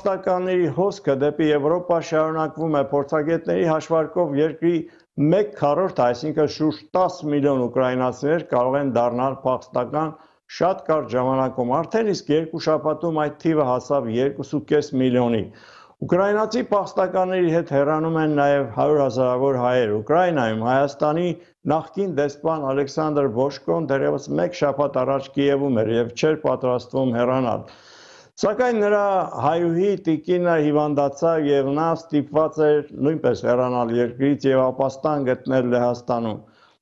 փախստականների հոսքը դեպի Եվրոպա շարունակվում է փորձագետների հաշվարկով երկրի 1/4, այսինքն շուրջ 10 միլիոն ուկրաինացիներ կարող են դառնալ փախստական շատ կարճ ժամանակում, արդեն իսկ 2 շաբաթում այդ թիվը հասավ 2.5 միլիոնի։ Ուկրաինացի փախստականների հետ հեռանում են նաև 100,000-ավոր հայեր։ Ուկրաինայում Հայաստանի նախկին դեսպան Ալեքսանդր Բոշկոն դեռևս 1 շաբաթ առաջ Կիևում էր եւ չէր պատրաստվում հեռանալ։ Սակայն նրա հայուհի տիկինը հիվանդացավ եւ նա ստիպված էր նույնպես հեռանալ երկրից եւ ապաստան գտնել Լեհաստանում։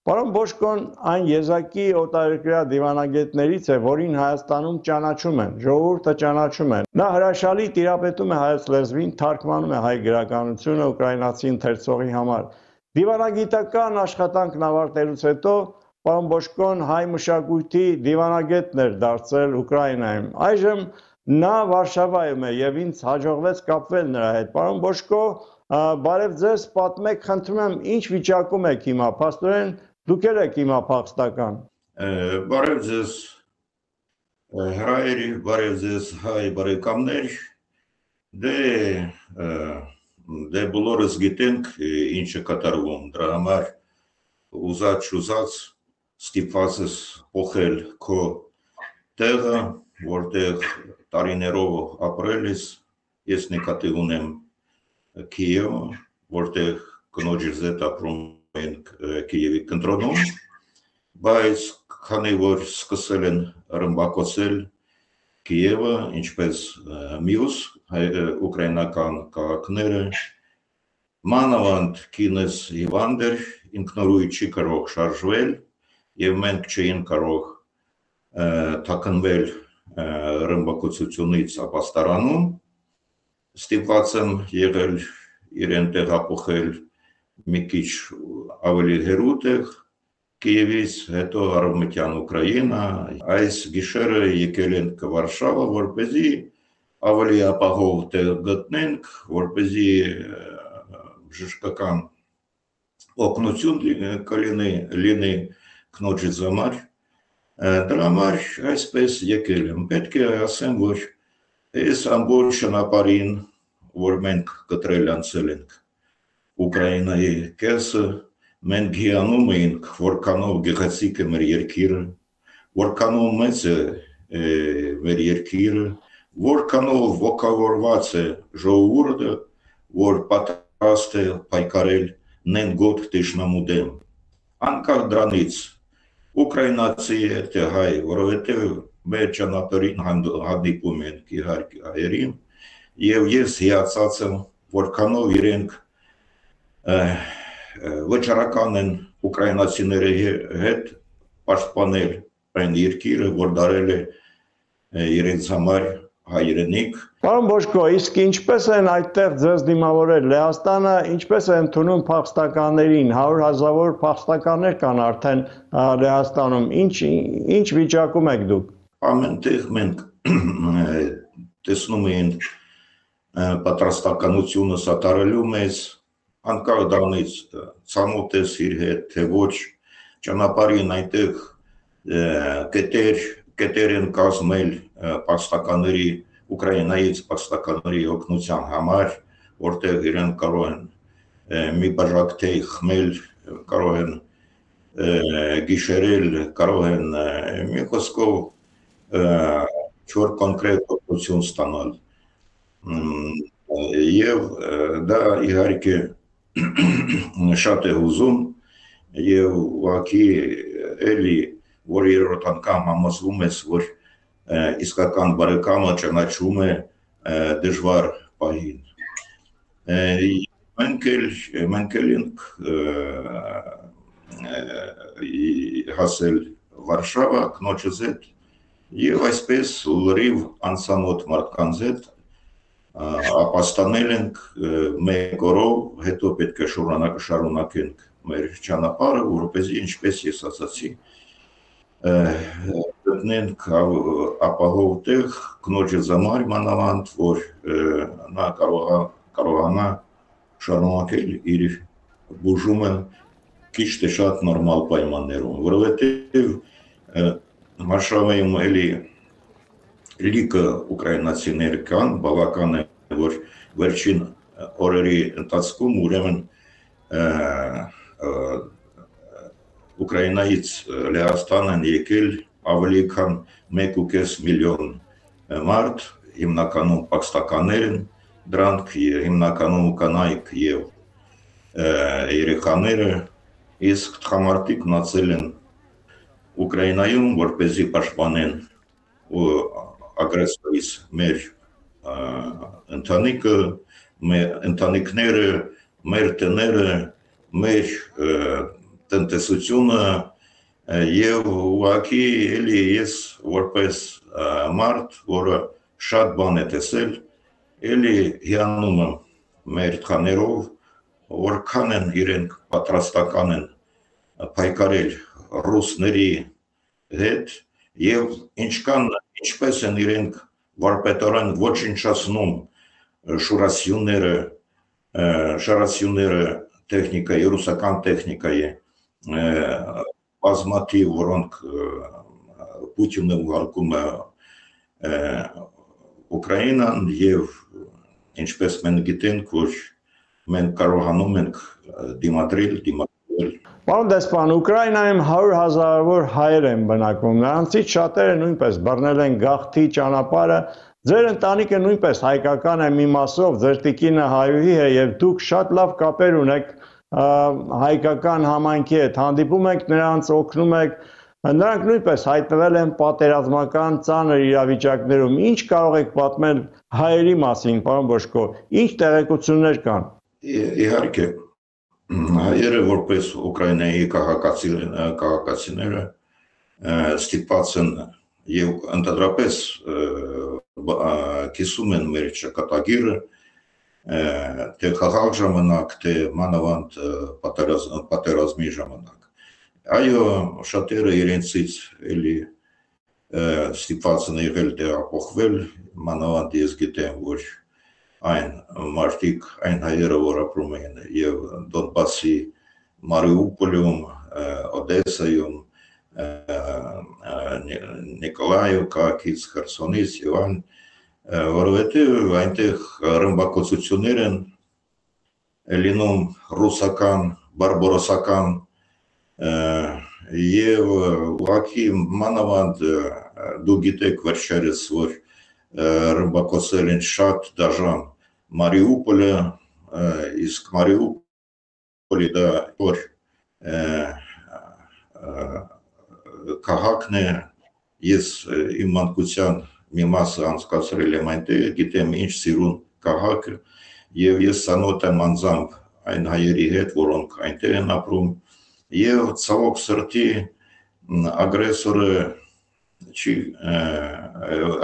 Պարոն Բոշկոն այն եզակի օտարերկրյա դիվանագետներից է, որին Հայաստանում ճանաչում են, ժողովուրդը ճանաչում է։ Նա հրաշալի տիրապետում է հայոց լեզվին, թարգմանում է հայ գրականությունը ուկրաինացի ընթերցողի համար։ Դիվանագիտական աշխատանքն ավարտելուց հետո պարոն Բոշկոն հայ մշակույթի դիվանագետն էր դարձել Ուկրաինայում։ Այժմ նա Վարշավայում է եւ ինձ հաջողվեց կապվել նրա հետ։ Պարոն Բոշկո, բարև ձեզ, պատմեք, խնդրում եմ, ինչ վիճակում եք հիմա, փաստորեն դուք եք հիմա փախստական։ Բարև ձեզ հայերի, բարև ձեզ հայ բարեկամներ, դե բոլորս գիտենք ինչ է կատարվում, դրա համար ուզած ստիպված ես փոխել քո տեղը, որտեղ տարիներով ապրել ես, ես նկատի ունեմ Կիև, որտեղ կնոջս հետ ապրում ենք Կիևի կենտրոնում, բայց քանի որ սկսել են ռմբակոծել Կիևը, ինչպես մյուս ուկրաինական քաղաքները, մանավանդ կինս հիվանդ էր, ինքնուրույն չի կարող շարժվել եւ մենք չէին կարող թաքնվել ռմբակոծությունից ապաստարանում, ստիպված եմ եղել իրեն տեղափոխել մի քիչ ավելի հեռու տեղ Կիևից, հետո արևմտյան Ուկրաինա, այս գիշերը եկել ենք Վարշավա, որպեսզի ավելի ապահով տեղ գտնենք, որպեսզի բժշկական օգնություն կլինի կնոջից համար, դրա համար այսպես եկել եմ, պետք է ասեմ, որ այս ամբողջ ճանապարհին, որ մենք կտրել անցել ենք Ուկրաինայի կեսը, մենք հիանում էինք, որքանով գեղեցիկ է մեր երկիրը, որքանով մեծ է մեր երկիրը, որքանով ոգևորված է ժողովուրդը, որ պատրաստ է պայքարել նենգոտ թշնամու դեմ։ Անկախ դրանից ուկրաինացի է թե հայ, որովհետև մեր ճանապարհին հանդիպում ենք իհարկե հայերին, եւ ես հիացած եմ, որքանով իրենք վճռական են ուկրաինացիների հետ պաշտպանել այն երկիրը, որ դարել է իրենց համար հայրենիք։ Պարոն Բոշկո, իսկ ինչպես են այդտեղ ձեզ դիմավորել Լեհաստանը, ինչպես է ընդունում փախստականներին, 100,000-ավոր փախստականներ կան արդեն Լեհաստանում, ինչ վիճակում եք դուք։ Ամենտեղ մենք տեսնում ենք պատրաստականությունը սատարելու մեզ, անկախ դրանից ցամոթ ես իր հետ, թե ոչ, ճանապարհին այնտեղ կետեր են կազմել փախստականների, Ուկրաինայից փախստականների օգնության համար, որտեղ իրենք կարող են մի բաժակ թեյ խմել, կարող են գիշերել, կարող են մի խոսքով չոր կոնկրետ օգնություն ստանալ։ Եվ դա իհարկե շատ է հուզում եւ ուղղակի էլի որ երրորդ անգամ համոզվում ես, որ իսկական բարեկամը ճանաչում է դժվար պահին։ Մենք ենք հասել Վարշավա կնոջս հետ եւ այսպես լրիվ անծանոթ մարդկանց հետ ապաստանել ենք մեկ օրով, հետո պետք է շարունակենք մեր ճանապարհը, որովհետեւ ինչպես ես ասացի, գտնենք ապահով տեղ կնոջս համար մանավանդ, որ նա կարողանա շարունակել իր բուժումը քիչ թե շատ նորմալ պայմաններում, որովհետեւ Վարշավայում էլի լիքը ուկրաինացիներ կան, բավական է, որ վերջին օրերի ընթացքում ուրեմն Ուկրաինայից Լեհաստան են եկել ավելի քան 1.5 միլիոն մարդ, հիմնականում պաքստականներ են, դրանք հիմնականում կանայք եւ երեխաները, իսկ տղամարդիկ մնացել են Ուկրաինայում, որպեսզի պաշտպանեն ագրեսորից մեր ընտանիքները, մեր տները, մեր տնտեսությունը եւ ուղղակի էլի ես որպես մարդ, որը շատ բան է տեսել, էլի հիանում եմ մեր տղաներով, որքան են իրենք պատրաստական են պայքարել ռուսների հետ եւ ինչպես են իրենք վարպետորեն ոչնչացնում շարասյունները տեխնիկայի, ռուսական տեխնիկայի բազմաթիվ, որոնք Պուտինը ուղարկում է Ուկրաինան եւ ինչպես մենք գիտենք, որ մենք կարողանում ենք դիմադրել Պարոն դեսպան, Ուկրաինայում 100,000-ավոր հայեր են բնակվում, նրանցից շատերը նույնպես բռնել են գաղթի ճանապարհը, ձեր ընտանիքը նույնպես հայկական է մի մասով, ձեր տիկինը հայուհի է եւ դուք շատ լավ կապեր ունեք հայկական համայնքի հետ, հանդիպում եք նրանց, օգնում եք, նրանք նույնպես հայտնվել են պատերազմական ծանր իրավիճակներում, ինչ կարող եք պատմել հայերի մասին, պարոն Բոշկո, ինչ տեղեկություններ կան։ Իհարկե, հայերը որպես Ուկրաինայի քաղաքացիները ստիպված են եւ ընդհանրապես կիսում են մեր ճակատագիրը թե խաղաղ ժամանակ, թե մանավանդ պատերազմի ժամանակ։ Այո, շատերը իրենցից էլի ստիպված են եղել տեղափոխվել, մանավանդ ես գիտեմ, որ այն մարդիկ, այն հայերը, որ ապրում են եւ Դոնբասի, Մարիուպոլում, Օդեսայում, Նիկոլայով, քաղաքից, Խերսոնից եւ այլն, որովհետեւ այնտեղ ռմբակոծություններ են լինում ռուսական, բարբարոսական եւ ուղղակի մանավանդ դու գիտեք վերջերս, որ ռմբակոծել են շատ դաժան Մարիուպոլը, իսկ Մարիուպոլի դա որ քաղաքն է, ես իմ մանկության մի մասը անցկացրել եմ այնտեղ, գիտեմ ինչ սիրուն քաղաք եւ ես ծանոթ եմ անձամբ այն հայերի հետ, որոնք այնտեղ են ապրում եւ ցավոք սրտի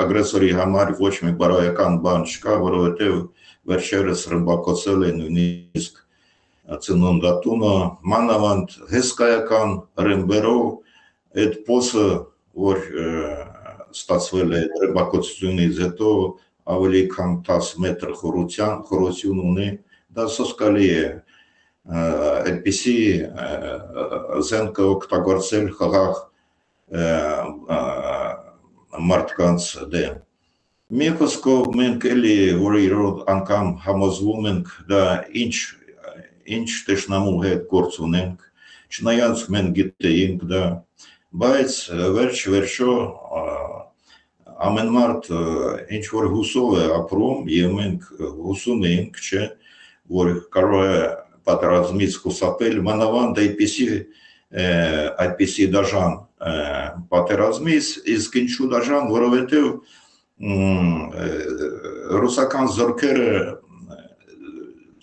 ագրեսորի համար ոչ մի բարոյական բան չկա, որովհետև վերջերս ռմբակոծել են նույնիսկ ծննդատունը, մանավանդ հսկայական ռմբերով այդ փոսը, որ ստացվել է ռմբակոծությունից հետո ավելի քան 10 մետր խորություն ունի, դա սոսկալի է, այդպիսի զենքը օգտագործել խաղաղ մարդկանց դեմ։ Մի խոսքով մենք էլի որերորդ անգամ համոզվում ենք դա ինչ տեսնամու հետ գործ ունենք, չնայած մենք գիտեինք դա, բայց վերջո ամեն մարդ ինչ որ հուսով է ապրում եւ մենք հուսում ենք, չէ, որ կարող է պատերազմից խուսափել, մանավանդ այդպիսի դաժան պատերազմից, իսկ ինչու դաժան, որովհետև ռուսական զորքերը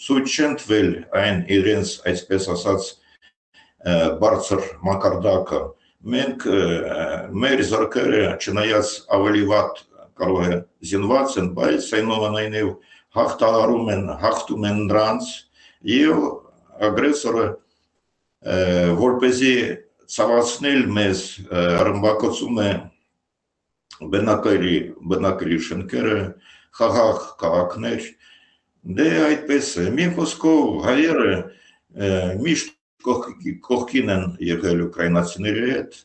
ցույց չեն տվել այն իրենց, այսպես ասած, բարձր մակարդակը։ Մենք մեր զորքերը չնայած ավելի վատ կարող է զինված են, բայց այնուամենայնիվ հաղթում են նրանց եւ ագրեսորը որպեսզի ցավացնել մեզ ռմբակոծում է բնակելի շենքերը, խաղաղ քաղաքներ, դե այդպես է, մի խոսքով հայերը միշտ կողքին են եղել ուկրաինացիների հետ,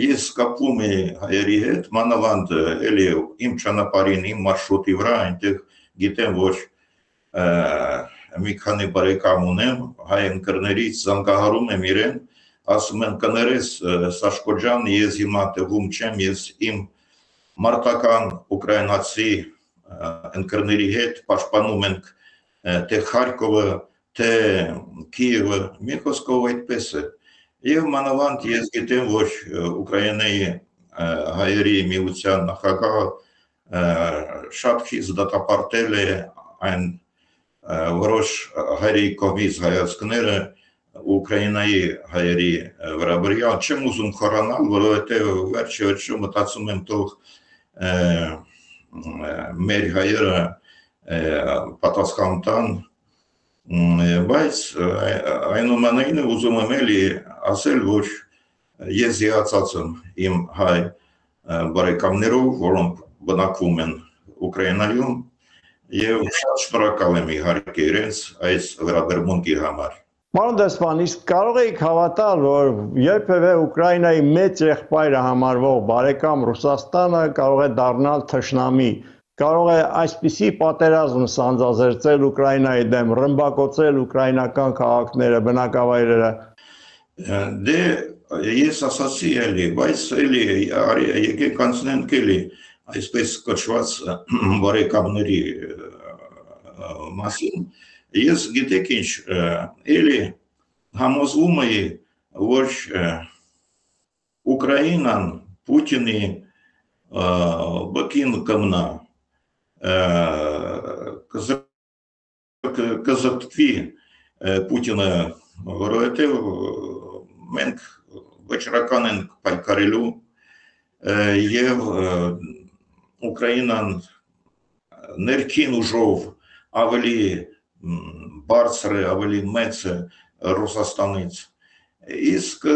ես կապվում եմ հայերի հետ, մանավանդ էլի իմ ճանապարհին, իմ մարշրուտի վրա, այնտեղ գիտեմ, որ մի քանի բարեկամ ունեմ, հայ ընկերներից զանգահարում եմ իրեն, ասում են կներես Սաշկո ջան, ես հիմա տեղում չեմ, ես իմ մարտական ուկրաինացի ընկերների հետ պաշտպանում ենք թե Խարկովը, թե Կիևը, մի խոսքով այդպես է։ Եվ մանավանդ ես գիտեմ, որ Ուկրաինայի հայերի միության նախագահը շատ քիչ դատապարտել է այն որոշ հայերի կողմից հայացքները Ուկրաինայի հայերի վերաբերյալ, չեմ ուզում խորանալ, որովհետև վերջը մտածում եմ թող մեր հայերը պատասխան տան, բայց այնուամենայնիվ ուզում եմ էլի ասել, որ ես զիացած եմ իմ հայ բարեկամներով, որոնք բնակվում են Ուկրաինայում, եւ շատ շնորհակալ եմ իհարկե իրենց այս վերաբերմունքի համար։ Պարոն դեսպան, իսկ կարող եք հավատալ, որ երբևէ Ուկրաինայի մեծ եղբայրը համարվող բարեկամ Ռուսաստանը կարող է դառնալ թշնամի, կարող է այսպիսի պատերազմ սանձազերծել Ուկրաինայի դեմ, ռմբակոծել ուկրաինական քաղաքները, բնակավայրերը։ Դե ես ասացի էլի, բայց էլի եկեք անցնենք էլի այսպես կոչված բարեկամների մասին, ես գիտեք ինչ, էլի համոզվում էի, որ Ուկրաինան Պուտինի բկին կմնա, կզտվի Պուտինը, որովհետև մենք վճռական ենք պայքարելու եւ Ուկրաինան ներքին ուժով ավելի բարձր է, ավելի մեծ է Ռուսաստանից, իսկ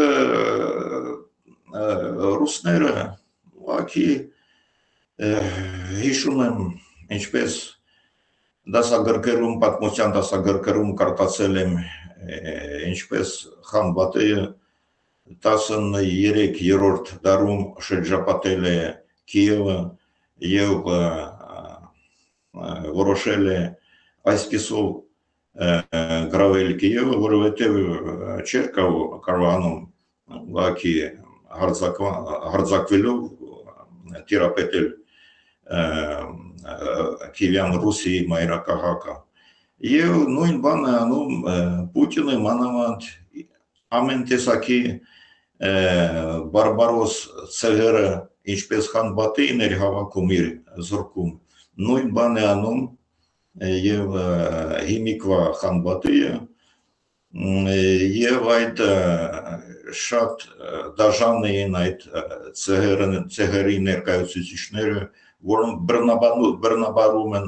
ռուսները ուղղակի հիշում եմ, ինչպես դասագրքերում, պատմության դասագրքերում կարդացել եմ, ինչպես խան Բաթեը 13-րդ դարում շրջապատել է Կիևը եւ որոշել է այսպիսով գրավել Կիևը, որովհետեւ չէր կարողանում ուղղակի հարձակվելով տիրապետել Կիևյան Ռուսիայի մայրաքաղաքը։ Եվ նույն բանը անում Պուտինը մանավանդ ամեն տեսակի բարբարոս ցեղերը, ինչպես խան Բաթեին էր հավաքում իր զորքում, նույն բան է անում եւ հիմիկվա խան Բաթեը եւ այդ շատ դաժան էին այդ ցեղերի ներկայացուցիչները, որոնք բռնաբարում են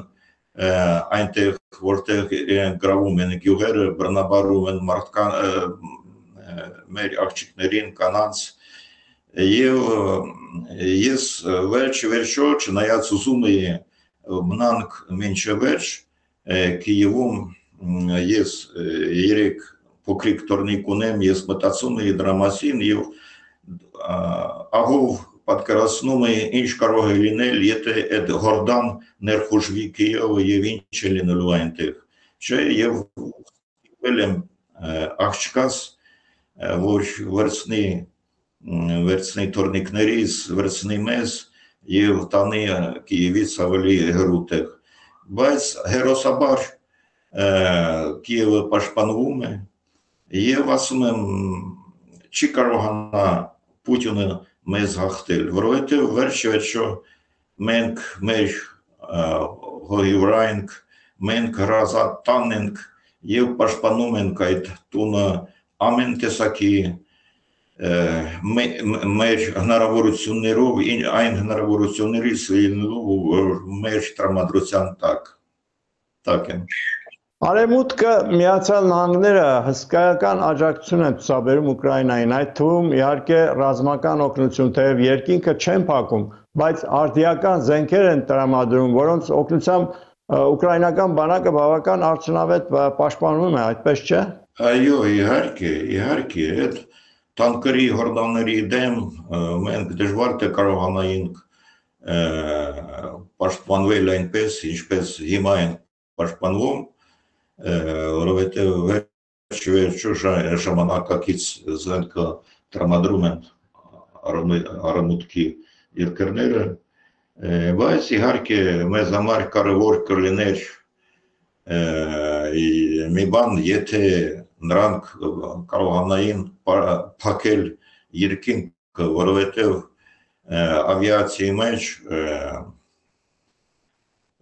այնտեղ, որտեղ իրենք գրավում են գյուղերը, բռնաբարում են մեր աղջիկներին, կանանց, եւ ես վերջո չնայած ուզում էի մնանք մինչև վերջ Կիևում, ես 3 փոքրիկ տորնիկ ունեմ, ես մտածում էի դրա մասին եւ ահով պատկերացնում էի ինչ կարող է լինել, եթե այդ հորդան ներխուժվի Կիևը եւ ինչ է լինելու այնտեղ, չէ, եւ ել եմ աղջկաս, որ վերցնի տորնիկներից, վերցնի մեզ եւ տանի Կիևից ավելի հեռու տեղ, բայց հերոսաբար Կիևը պաշտպանվում է եւ ասում եմ չի կարողանա Պուտինը մեզ հաղթել, որովհետեւ վերջո մենք մեր հողի վրա ենք, մենք հրազատան ենք եւ պաշտպանում ենք այդ տունը ամեն տեսակի մեր հնարավորություններով, այն հնարավորություններից լինելու, որ մեր տրամադրության տակ են։ Արևմուտքը Միացյալ Նահանգները հսկայական աջակցություն են ցուցաբերում Ուկրաինային, այդ թվում իհարկե ռազմական օգնություն, թեև երկինքը չեն փակում, բայց արդիական զենքեր են տրամադրում, որոնց օգնությամբ ուկրաինական բանակը բավական արդյունավետ պաշտպանվում է, այդպես չէ։ Այո, իհարկե, այդ տանկերի հորդանների դեմ մենք դժվար թե կարողանայինք պաշտպանվել այնպես, ինչպես հիմա են պաշտպանվում, որովհետև վերջո ժամանակակից զենքը տրամադրում են արևմուտքի երկրները, բայց իհարկե մեզ համար կարևոր կլիներ մի բան, եթե նրանք կարողանային փակել երկինքը, որովհետև ավիացիայի մեջ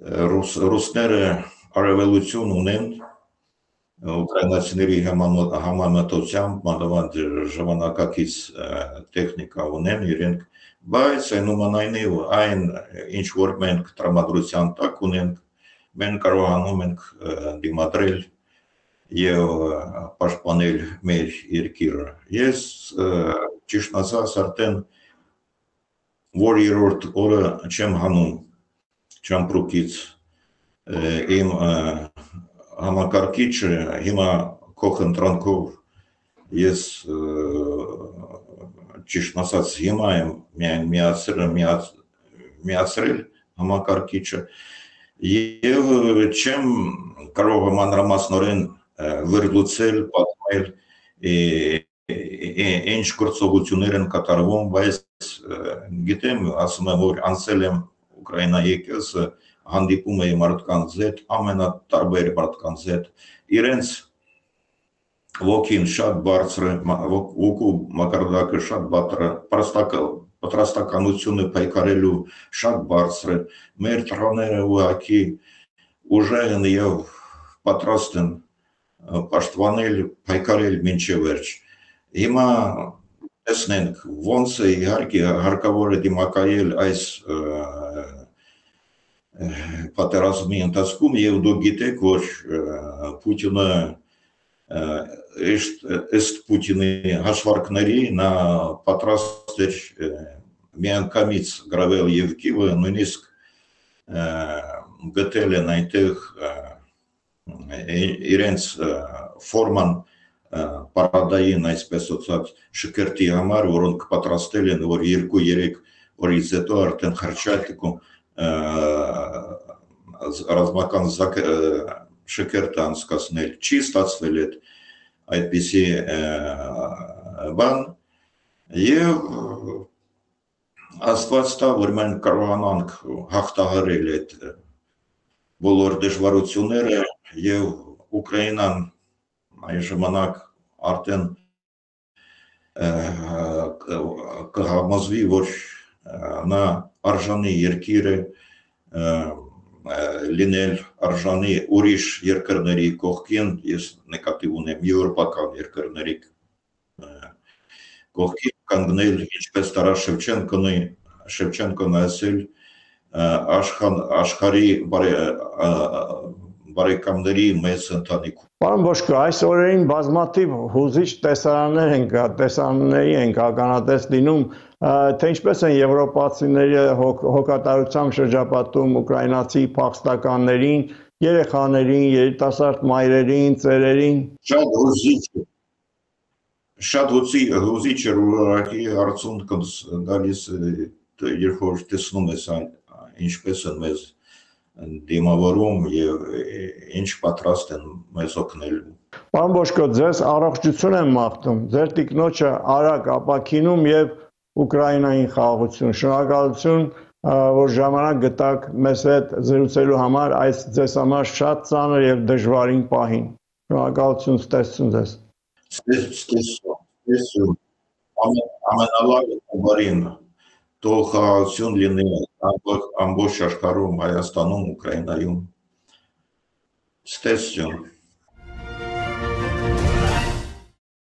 ռուսները արևելություն ունեն ուկրաինացիների համեմատությամբ մանավանդ ժամանակակից տեխնիկա ունեն իրենք, բայց այնուամենայնիվ այն ինչ որ մենք տրամադրության տակ ունենք, մենք կարողանում ենք դիմադրել եւ պաշտպանել մեր երկիրը։ Ես ճիշտ ասած արդեն որ երրորդ օրը չեմ հանում ճամպրուկից իմ համակարգիչը, հիմա քո խնդրանքով ես ճիշտ ասած հիմա եմ միայն միացրել համակարգիչը եւ չեմ կարող մանրամասնորեն վերլուծել, պատմել ինչ գործողություններ են կատարվում, բայց գիտեմ, ասում եմ, որ անցել եմ Ուկրաինա եկեղեցը, հանդիպում էի մարդկանց հետ, ամենատարբեր մարդկանց հետ, իրենց ոգին շատ բարձր է, ոգու մակարդակը շատ պատրաստականությունը պայքարելու շատ բարձր է, մեր տղաները ուղղակի ուժեղ են եւ պատրաստ են պաշտպանել, պայքարել մինչև վերջ։ Հիմա տեսնենք ոնց է իհարկե հարկավոր է դիմակայել այս պատերազմի ընթացքում եւ դուք գիտեք, որ Պուտինը ըստ Պուտինի հաշվարկների նա պատրաստ էր միանգամից գրավել եւ Կիևը, նույնիսկ գտել են այնտեղ իրենց ֆորման պարադային, այսպես ասած, շքերթի համար, որոնք պատրաստել են, որ 2-3 օրից հետո արդեն Խրճատիկում ռազմական շքերթ անցկացնել, չի ստացվել այդպիսի բան եւ Աստված տա, որ մենք կարողանանք հաղթահարել այդ բոլոր դժվարությունները եւ Ուկրաինան այն ժամանակ արդեն կհամոզվի, որ նա արժանի երկիր է լինել արժանի ուրիշ երկրների կողքին, ես նկատի ունեմ եվրոպական երկրների կողքին կանգնել, ինչպես Տարաս Շևչենկոն ասել, աշխարհի բարեկամների մեծ ընտանիքում։ Պարոն Բոշկո, այս օրերին բազմաթիվ հուզիչ տեսարանների ենք ականատես լինում, թե ինչպես են եվրոպացիները հոգատարությամբ շրջապատում ուկրաինացի փախստականներին, երեխաներին, երիտասարդ մայրերին, ծերերին։ Շատ հուզիչ է ուղղակի արդյունք գալիս, երբ որ տեսնում ես ինչպես են մեզ դիմավորում եւ ինչ պատրաստ են մեզ օգնելու։ Պարոն Բոշկո, ձեզ առողջություն եմ մաղթում, ձեր տիկնոջը արագ ապաքինում եւ Ուկրաինային խաղաղություն։ Շնորհակալություն, որ ժամանակ գտաք մեզ հետ զրուցելու համար այս ձեզ համար շատ ծանր եւ դժվարին պահին։ Շնորհակալություն, ստեսություն ձեզ։ Ստեսություն։ Ամենալավը բարին։ Թող խաղաղություն լինի ամբողջ աշխարհում, Հայաստանում, Ուկրաինայում։ Ստեսություն։